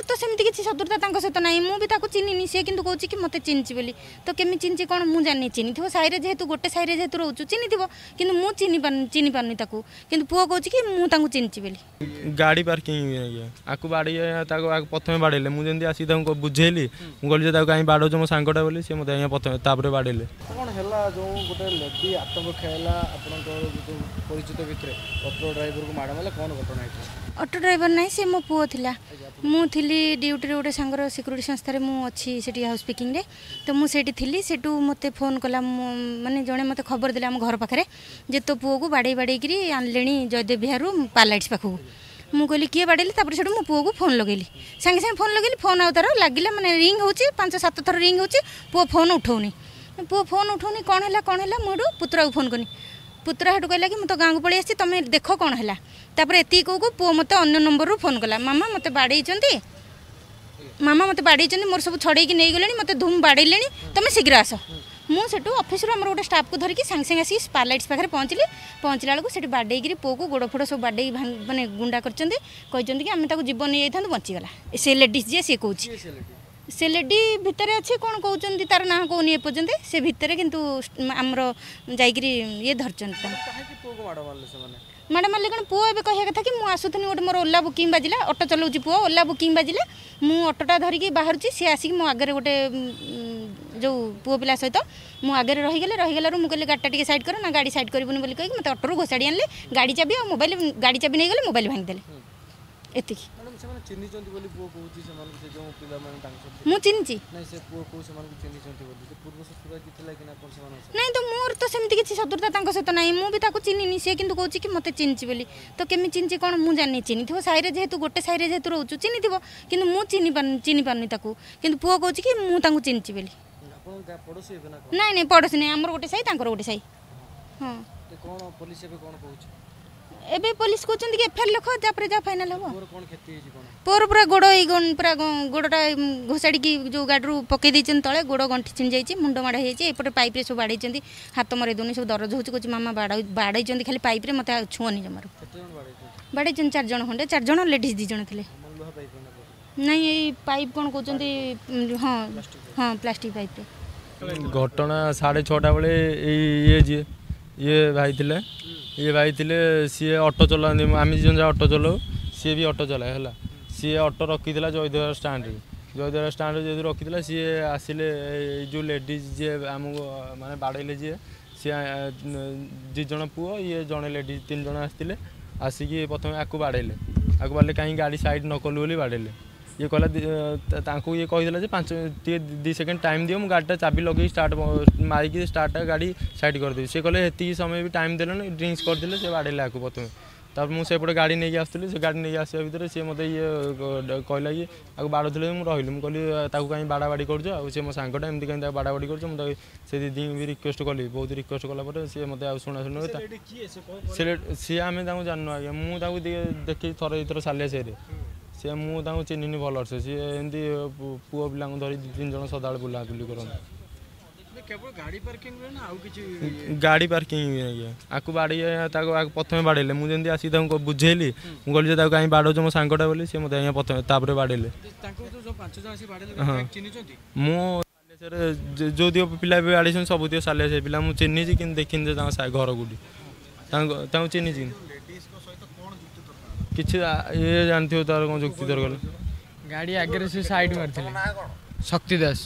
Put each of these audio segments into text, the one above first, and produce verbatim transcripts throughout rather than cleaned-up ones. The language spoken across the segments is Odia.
ତ ସେମିତି କିଛି ଶତ୍ରୁତା ତାଙ୍କ ସହିତ ନାହିଁ। ମୁଁ ବି ତାକୁ ଚିହ୍ନିନି। ସିଏ କିନ୍ତୁ କହୁଛି କି ମୋତେ ଚିହ୍ନିଛି ବୋଲି। ତ କେମିତି ଚିହ୍ନିଛି କ'ଣ ମୁଁ ଜାଣିନି। ଚିହ୍ନିଥିବ, ସାହିରେ ଯେହେତୁ, ଗୋଟେ ସାହିରେ ଯେହେତୁ ରହୁଛୁ, ଚିହ୍ନିଥିବ। କିନ୍ତୁ ମୁଁ ଚିହ୍ନି ପାରୁନି ଚିହ୍ନି ପାରୁନି ତାକୁ। କିନ୍ତୁ ପୁଅ କହୁଛି କି ମୁଁ ତାଙ୍କୁ ଚିହ୍ନିଛି ବୋଲି। ଗାଡ଼ି ପାର୍କିଂ ଆଜ୍ଞା, ଆକୁ ବାଡ଼େଇ ତାକୁ ଆକୁ ପ୍ରଥମେ ବାଡ଼େଇଲେ। ମୁଁ ଯେମିତି ଆସିକି ତାଙ୍କୁ ବୁଝେଇଲି, ମୁଁ କହିଲି ଯେ ତାକୁ କାହିଁ ବାଡ଼ଉଛ, ମୋ ସାଙ୍ଗଟା ବୋଲି, ସେ ମୋତେ ଆଜ୍ଞା ପ୍ରଥମେ ତାପରେ ବାଡ଼େଇଲେ। କ'ଣ ହେଲା, ଯେଉଁ ଗୋଟେ ଲେଡି ଆତଙ୍କ ଖେଳିଲା ଆପଣଙ୍କର ଯେଉଁ ପରିଚିତ ଭିତରେ, ଅଟୋ ଡ୍ରାଇଭରକୁ ମାଡ଼ ମାରିଲା, କ'ଣ ଘଟଣା ହେଇଥିଲା? ଅଟୋ ଡ୍ରାଇଭର ନାହିଁ, ସେ ମୋ ପୁଅ ଥିଲା। ମୁଁ ଥିଲି ଡ୍ୟୁଟିରେ, ଗୋଟେ ସାଙ୍ଗର ସିକ୍ୟୁରିଟି ସଂସ୍ଥାରେ ମୁଁ ଅଛି ସେଠି ହାଉସ୍ ପିକିଂରେ। ତ ମୁଁ ସେଇଠି ଥିଲି। ସେଠୁ ମୋତେ ଫୋନ୍ କଲା, ମୁଁ ମାନେ ଜଣେ ମୋତେ ଖବର ଦେଲେ ଆମ ଘର ପାଖରେ ଯେ ତୋ ପୁଅକୁ ବାଡ଼େଇ ବାଡ଼େଇକିରି ଆଣିଲେଣି ଜୟଦେବ ବିହାରରୁ ପାଲାଇଟ୍ସ ପାଖକୁ। ମୁଁ କହିଲି କିଏ ବାଡ଼େଇଲେ? ତାପରେ ସେଠୁ ମୋ ପୁଅକୁ ଫୋନ୍ ଲଗେଇଲି। ସାଙ୍ଗେ ସାଙ୍ଗେ ଫୋନ୍ ଲଗେଇଲି, ଫୋନ୍ ଆଉ ତାର ଲାଗିଲା, ମାନେ ରିଙ୍ଗ ହେଉଛି, ପାଞ୍ଚ ସାତ ଥର ରିଙ୍ଗ ହେଉଛି, ପୁଅ ଫୋନ୍ ଉଠଉନି। ପୁଅ ଫୋନ୍ ଉଠଉନି, କ'ଣ ହେଲା, କ'ଣ ହେଲା? ମୁଁ ହେଠୁ ପୁତୁରାକୁ ଫୋନ୍ କଲି। ପୁତୁରା ହେଠୁ କହିଲା କି ମୁଁ ତ ଗାଁକୁ ପଳେଇ ଆସିଛି, ତମେ ଦେଖ କ'ଣ ହେଲା। ତାପରେ ଏତିକି କହୁ କହୁ ପୁଅ ମୋତେ ଅନ୍ୟ ନମ୍ବରରୁ ଫୋନ୍ କଲା, ମାମା ମୋତେ ବାଡ଼େଇଛନ୍ତି, ମାମା ମୋତେ ବାଡ଼େଇଛନ୍ତି, ମୋର ସବୁ ଛଡ଼େଇକି ନେଇଗଲେଣି, ମୋତେ ଧୁମ୍ ବାଡ଼େଇଲେଣି, ତମେ ଶୀଘ୍ର ଆସ। ମୁଁ ସେଠୁ ଅଫିସରୁ ଆମର ଗୋଟେ ଷ୍ଟାଫ୍କୁ ଧରିକି ସାଙ୍ଗେ ସାଙ୍ଗେ ଆସିକି ସ୍ପାଲାଇଟ୍ସ ପାଖରେ ପହଞ୍ଚିଲି। ପହଞ୍ଚିଲା ବେଳକୁ ସେଠି ବାଡ଼େଇକିରି ପୁଅକୁ ଗୋଡ଼ ଫୋଡ଼ ସବୁ ବାଡ଼େଇ ମାନେ ଗୁଣ୍ଡା କରିଛନ୍ତି। କହିଛନ୍ତି କି ଆମେ ତାକୁ ଜୀବନ ନେଇଯାଇଥାନ୍ତୁ, ବଞ୍ଚିଗଲା। ସେ ଲେଡ଼ିଜ୍ ଯିଏ, ସିଏ କହୁଛି। ସେ ଲେଡ଼ି ଭିତରେ ଅଛି, କ'ଣ କହୁଛନ୍ତି, ତାର ନାଁ କହୁନି ଏପର୍ଯ୍ୟନ୍ତ। ସେ ଭିତରେ କିନ୍ତୁ ଆମର ଯାଇକିରି ଇଏ ଧରିଛନ୍ତି ତାଙ୍କୁ। କାହିଁକି ପୁଅକୁ ମାଡ଼ ମାରିଲେ ସେମାନେ? ମାଡ଼ ମାରିଲେ କ'ଣ, ପୁଅ ଏବେ କହିବା କଥା କି ମୁଁ ଆସୁଥିଲି, ଗୋଟେ ମୋର ଓଲା ବୁକିଂ ବାଜିଲା, ଅଟୋ ଚଲାଉଛି ପୁଅ, ଓଲା ବୁକିଂ ବାଜିଲା, ମୁଁ ଅଟୋଟା ଧରିକି ବାହାରୁଛି, ସିଏ ଆସିକି ମୋ ଆଗରେ ଗୋଟେ ଯେଉଁ ପୁଅ ପିଲା ସହିତ ମୋ ଆଗରେ ରହିଗଲେ। ରହିଗଲାରୁ ମୁଁ କହିଲି ଗାଡ଼ିଟା ଟିକେ ସାଇଡ଼୍ କର। ନା, ଗାଡ଼ି ସାଇଡ଼୍ କରିବୁନି ବୋଲି କହିକି ମୋତେ ଅଟୋରୁ ଘୋଷାଡ଼ି ଆଣିଲେ। ଗାଡ଼ି ଚାବି ଆଉ ମୋବାଇଲ, ଗାଡ଼ି ଚାବି ନେଇଗଲେ, ମୋବାଇଲ ଭାଙ୍ଗିଦେଲେ, ଏତିକି। ମ୍ୟାଡ଼ାମ୍, ସେମାନେ ଚିହ୍ନିଛନ୍ତି ବୋଲି ପୁଅ କହୁଛି ସେମାନଙ୍କୁ, ସେ ଯେଉଁ ପିଲାମାନେ ତାଙ୍କ ସହିତ? ମୁଁ ଚିହ୍ନିଛି। ନାଇଁ, ସେ ପୁଅ କହୁ ସେମାନଙ୍କୁ ଚିହ୍ନିଛନ୍ତି ବୋଲି, ସେ ପୂର୍ବ ଶତ୍ରୁତା କି ଥିଲା କି ନା କ'ଣ ସେମାନଙ୍କ ସହିତ? ନାଇଁ ତ, ମୋର ତ ସେମିତି କିଛି ଶତ୍ରୁତା ତାଙ୍କ ସହିତ ନାହିଁ। ମୁଁ ବି ତାକୁ ଚିହ୍ନିନି। ସିଏ କିନ୍ତୁ କହୁଛି କି ମୋତେ ଚିହ୍ନିଛି ବୋଲି। ତ କେମିତି ଚିହ୍ନିଛି କ'ଣ ମୁଁ ଜାଣିନି। ଚିହ୍ନିଥିବ, ସାହିରେ ଯେହେତୁ, ଗୋଟେ ସାହିରେ ଯେହେତୁ ରହୁଛୁ, ଚିହ୍ନିଥିବ। କିନ୍ତୁ ମୁଁ ଚିହ୍ନି ପାରୁନି ଚିହ୍ନି ପାରୁନି ତାକୁ। କିନ୍ତୁ ପୁଅ କହୁଛି କି ମୁଁ ତାଙ୍କୁ ଚିହ୍ନିଛି ବୋଲି। ଆପଣ ଗାଁ ପଡ଼ୋଶୀ ହେବେ ନା କ'ଣ? ନାଇଁ ନାଇଁ, ପଡ଼ୋଶୀ ନାଇଁ, ଆମର ଗୋଟେ ସାହି, ତାଙ୍କର ଗୋଟେ ସାହି। ହଁ। ତ କ'ଣ ପୋଲିସ ଏବେ କ'ଣ କହୁଛି? ଏବେ ପୋଲିସ କହୁଛନ୍ତି କି ଏଫଆଇଆର ଲେଖ, ତାପରେ ଯାହା ଫାଇନାଲ ହେବ। ପୁଅର କ'ଣ କ୍ଷତି ହେଇଛି କ'ଣ? ପୁଅର ପୁରା ଗୋଡ଼ ଏଇ ପୁରା ଗୋଡ଼ଟା ଘୋଷାଡ଼ିକି ଯେଉଁ ଗାଡ଼ିରୁ ପକେଇ ଦେଇଛନ୍ତି ତଳେ, ଗୋଡ଼ ଗଣ୍ଠି ଛିଣ୍ଡି ଯାଇଛି, ମୁଣ୍ଡ ମାଡ଼ ହେଇଯାଇଛି, ଏପଟେ ପାଇପ୍ରେ ସବୁ ବାଡ଼େଇଛନ୍ତି, ହାତ ମରେଇ ଦେଉନି, ସବୁ ଦରଜ ହେଉଛି। କହୁଛି ମାମା ବାଡ଼େଇଛନ୍ତି ଖାଲି ପାଇପ୍ରେ, ମୋତେ ଆଉ ଛୁଅନି ଜମାରୁ। କେତେ ଜଣ ବାଡ଼େଇଛନ୍ତି? ବାଡ଼େଇଛନ୍ତି ଚାରି ଜଣ ଖଣ୍ଡେ, ଚାରି ଜଣ, ଲେଡ଼ିଜ୍ ଦୁଇ ଜଣ ଥିଲେ। ମାନେ ଲୁହା ପାଇପ୍ ନା କ'ଣ? ନାଇଁ, ଏଇ ପାଇପ୍ କ'ଣ କହୁଛନ୍ତି, ହଁ ହଁ, ପ୍ଲାଷ୍ଟିକ୍ ପାଇପ୍ରେ। ଘଟଣା ସାଢ଼େ ଛଅଟା ବେଳେ ଏଇ ଇଏ ଯିଏ ଇଏ ଭାଇ ଥିଲେ, ଇଏ ଭାଇ ଥିଲେ, ସିଏ ଅଟୋ ଚଲାନ୍ତି। ଆମେ ଦୁଇ ଜଣ ଯାକ ଅଟୋ ଚଲାଉ, ସିଏ ବି ଅଟୋ ଚଲାଏ। ହେଲା, ସିଏ ଅଟୋ ରଖିଥିଲା ଜୟଦେବ ଷ୍ଟାଣ୍ଡରେ। ଜୟଦେବ ଷ୍ଟାଣ୍ଡରେ ଯେହେତୁ ରଖିଥିଲା, ସିଏ ଆସିଲେ, ଏଇ ଯେଉଁ ଲେଡ଼ିଜ୍ ଯିଏ ଆମକୁ ମାନେ ବାଡ଼େଇଲେ ଯିଏ, ସିଏ ଦୁଇ ଜଣ ପୁଅ, ଇଏ ଜଣେ ଲେଡ଼ିଜ୍, ତିନି ଜଣ ଆସିଥିଲେ। ଆସିକି ପ୍ରଥମେ ଆକୁ ବାଡ଼େଇଲେ। ଆକୁ ବାଡ଼େଇଲେ କାହିଁକି ଗାଡ଼ି ସାଇଡ଼୍ ନ କଲୁ ବୋଲି ବାଡ଼େଇଲେ। ଇଏ କହିଲା ତାଙ୍କୁ, ଇଏ କହିଦେଲା ଯେ ପାଞ୍ଚ ଟିକେ ଦୁଇ ସେକେଣ୍ଡ ଟାଇମ୍ ଦିଅ, ମୁଁ ଗାଡ଼ିଟା ଚାବି ଲଗେଇକି ଷ୍ଟାର୍ଟ ମାରିକି ଷ୍ଟାର୍ଟଟା ଗାଡ଼ି ସାଇଡ଼୍ କରିଦେବି। ସେ କହିଲେ ସେତିକି ସମୟ ବି ଟାଇମ୍ ଦେଲେନି, ଡ୍ରିଙ୍କସ୍ କରିଥିଲେ, ସେ ବାଡ଼େଇଲେ ଆକୁ ପ୍ରଥମେ। ତାପରେ ମୁଁ ସେପଟେ ଗାଡ଼ି ନେଇକି ଆସୁଥିଲି। ସେ ଗାଡ଼ି ନେଇକି ଆସିବା ଭିତରେ ସିଏ ମୋତେ ଇଏ କହିଲା କି ଆକୁ ବାଡ଼ଉଥିଲେ। ମୁଁ ରହିଲି, ମୁଁ କହିଲି ତାକୁ କାହିଁ ବାଡ଼ା ବାଡ଼ି କରୁଛ, ଆଉ ସେ ମୋ ସାଙ୍ଗଟା, ଏମିତି କାହିଁ ତାକୁ ବାଡ଼ା ବାଡ଼ି କରୁଛ? ମୁଁ ତାକୁ ସେ ଦିଦିଙ୍କୁ ବି ରିକ୍ୱେଷ୍ଟ କଲି। ବହୁତ ରିକ୍ୱେଷ୍ଟ କଲା ପରେ ସିଏ ମୋତେ ଆଉ ଶୁଣା ଶୁଣି ସେ ସିଏ ଆମେ ତାଙ୍କୁ ଜାଣିନୁ ଆଜ୍ଞା। ମୁଁ ତାକୁ ଦେଖିଛି ଥରେ ଦୁଇଥର ସାଲିଆ ସାହିରେ। ସିଏ ମୁଁ ତାଙ୍କୁ ଚିହ୍ନିନି ଭଲସେ। ସିଏ ଏମିତି ପୁଅ ପିଲାଙ୍କୁ ଧରି ଦୁଇ ତିନି ଜଣ ସଦାବେଳେ ବୁଲାବୁଲି କରନ୍ତି। କେବଳ ଗାଡ଼ି ପାର୍କିଂ ନା ଆଉ କିଛି? ଗାଡ଼ି ପାର୍କିଂ ଆଜ୍ଞା, ଆକୁ ବାଡ଼େଇ ତାକୁ ଆକୁ ପ୍ରଥମେ ବାଡ଼େଇଲେ। ମୁଁ ଯେମିତି ଆସିକି ତାଙ୍କୁ ବୁଝେଇଲି, ମୁଁ କହିଲି ଯେ ତାକୁ କାହିଁ ବାଡ଼ଉଛ, ମୋ ସାଙ୍ଗଟା ବୋଲି, ସେ ମୋତେ ଆଜ୍ଞା ପ୍ରଥମେ ତାପରେ ବାଡ଼େଇଲେ। ତାଙ୍କୁ ଯେଉଁ ପାଞ୍ଚ ଜଣ ଆସିକି ବାଡ଼େଇଲେ ହଁ ଚିହ୍ନିଛନ୍ତି? ମୁଁ ସାଲିଆସାହିରେ ଯେଉଁ ପିଲା ବି ବାଡ଼େଇଛନ୍ତି, ସବୁ ତିକ ସାଲିଆସାହି ପିଲା। ମୁଁ ଚିହ୍ନିଛି କିନ୍ତୁ ଦେଖିନି ଯେ ତାଙ୍କ ଘର କେଉଁଠି। ତାଙ୍କୁ ତାଙ୍କୁ ଚିହ୍ନିଛି କିଛି, ଇଏ ଜାଣିଥିବ ତାର କ'ଣ ଯୁକ୍ତି ତର୍କ। ଗାଡ଼ି ଆଗରେ ସେ ସାଇଡ଼୍ ମାରିଥିଲେ। ଶକ୍ତି ଦାସ।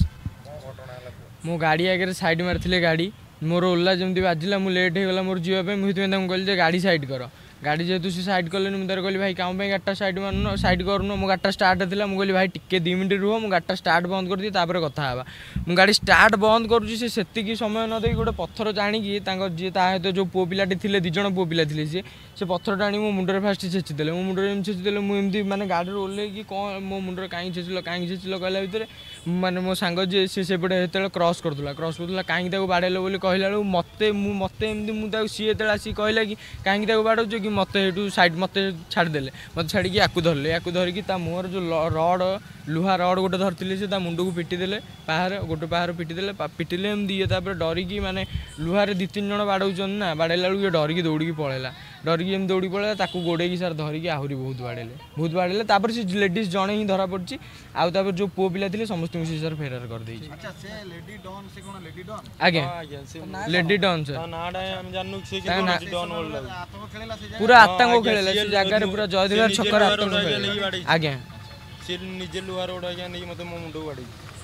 ମୋ ଗାଡ଼ି ଆଗରେ ସାଇଡ଼୍ ମାରିଥିଲେ। ଗାଡ଼ି ମୋର ଓଲା ଯେମିତି ବାଜିଲା, ମୁଁ ଲେଟ୍ ହେଇଗଲା ମୋର ଯିବା ପାଇଁ, ମୁଁ ସେଥିପାଇଁ ତାଙ୍କୁ କହିଲି ଯେ ଗାଡ଼ି ସାଇଡ଼୍ କର। ଗାଡ଼ି ଯେହେତୁ ସେ ସାଇଡ଼୍ କଲେନି, ମୁଁ ତାର କହିଲି ଭାଇ କାମ ପାଇଁ ଗାଡ଼ିଟା ସାଇଡ଼୍ ମାରୁନ, ସାଇଡ଼୍ କରୁନ? ମୋ ଗାଡ଼ିଟା ଷ୍ଟାର୍ଟ ଥିଲା। ମୁଁ କହିଲି ଭାଇ ଟିକେ ଦୁଇ ମିନିଟ୍ ରୁହ, ମୁଁ ଗାଡ଼ିଟା ଷ୍ଟାର୍ଟ ବନ୍ଦ କରିଦିଏ, ତାପରେ କଥା ହେବା। ମୁଁ ଗାଡ଼ି ଷ୍ଟାର୍ଟ ବନ୍ଦ କରୁଛି, ସେ ସେତିକି ସମୟ ନ ଦେଇକି ଗୋଟେ ପଥର ଜାଣିକି ତାଙ୍କ ଯିଏ ତା ସହିତ ଯେଉଁ ପୁଅ ପିଲାଟି ଥିଲେ, ଦୁଇ ଜଣ ପୁଅ ପିଲା ଥିଲେ, ସିଏ ସେ ପଥରଟା ଆଣି ମୋ ମୁଣ୍ଡରେ ଫାଷ୍ଟ ଛେଚିଦେଲେ। ମୋ ମୁଣ୍ଡରେ ଏମିତି ଛେଚିଦେଲେ, ମୁଁ ଏମିତି ମାନେ ଗାଡ଼ିରୁ ଓହ୍ଲେଇକି କ'ଣ ମୋ ମୁଣ୍ଡରେ କାହିଁକି ଛେଚିଲ, କାହିଁକି ଛେଚିଲ କହିଲା ଭିତରେ ମାନେ ମୋ ସାଙ୍ଗ ଯିଏ ସେ ସେପଟେ ସେତେବେଳେ କ୍ରସ୍ କରୁଥିଲା କ୍ରସ୍ କରୁଥିଲା କାହିଁକି ତାକୁ ବାଡ଼େଇଲ ବୋଲି କହିଲା ବେଳକୁ ମୋତେ ମୁଁ ମୋତେ ଏମିତି ମୁଁ ତାକୁ ସିଏ ଯେତେବେଳେ ଆସିକି କହିଲା କି କାହିଁକି ତାକୁ ବାଡ଼ଉଛ କି, ମୋତେ ସେଇଠୁ ସାଇଡ଼୍ ମୋତେ ଛାଡ଼ିଦେଲେ। ମୋତେ ଛାଡ଼ିକି ୟାକୁ ଧରିଲେ। ୟାକୁ ଧରିକି ତା ମୁହଁରେ ଯେଉଁ ରଡ଼, ଲୁହା ରଡ଼ ଗୋଟେ ଧରିଥିଲେ, ସେ ତା ମୁଣ୍ଡକୁ ପିଟିଦେଲେ, ପାହାରେ ଗୋଟେ ପାହାରେ ପିଟିଦେଲେ। ପିଟିଲେ ଏମିତି ଇଏ ତାପରେ ଡରିକି, ମାନେ ଲୁହାରେ ଦୁଇ ତିନି ଜଣ ବାଡ଼ଉଛନ୍ତି ନା, ବାଡ଼େଇଲା ବେଳକୁ ଇଏ ଡରିକି ଦୌଡ଼ିକି ପଳେଇଲା। ଡରିକି ଯେମିତି ଦୌଡ଼ି ପଳେଇଲା, ତାକୁ ଗୋଡ଼େଇକି ସାର୍ ଧରିକି ଆହୁରି ବହୁତ ବାଡ଼େଇଲେ, ବହୁତ ବାଡ଼େଇଲେ। ତାପରେ ସେ ଲେଡ଼ିଜ୍ ଜଣେ ହିଁ ଧରା ପଡ଼ିଛି, ଆଉ ତାପରେ ଯେଉଁ ପୁଅ ପିଲା ଥିଲେ ସମସ୍ତଙ୍କୁ ସେ ସାର୍ ଫେରାର କରିଦେଇଛି। ଆଚ୍ଛା, ସେ ଲେଡି ଡନ୍, ସେ କ'ଣ ଲେଡି ଡନ୍? ଆଜ୍ଞା, ଆଜ୍ଞା, ସେ ଲେଡି ଡନ୍ ସାର୍। ତା ନାଁଟା ଆମେ ଜାଣିନୁ, ସେ ତାଙ୍କ ନାଁ- ଡନ୍ ବୋଲି ଲାଗୁଛି। ଆତଙ୍କ ଖେଳିଲା ସେ ଜାଗାରେ? ପୁରା ଆତଙ୍କ ଆଜ୍ଞା, ଖେଳିଲା ସିଏ ସେ ଜାଗାରେ, ପୁରା ଜୟଦେବ ସିଏ ନିଜେ ଛକରେ ଲୁହା ଆତଙ୍କ ରୋଡ଼ ଆଜ୍ଞା ଖେଳିଲା ନେଇକି ବାଡ଼େଇଛି। ଆଜ୍ଞା। ସିଏ ନିଜେ ଲୁହା ରୋଡ଼ ଆଜ୍ଞା ନେଇକି ମୋତେ ମୋ ମୁଣ୍ଡକୁ ବାଡ଼େଇଛି।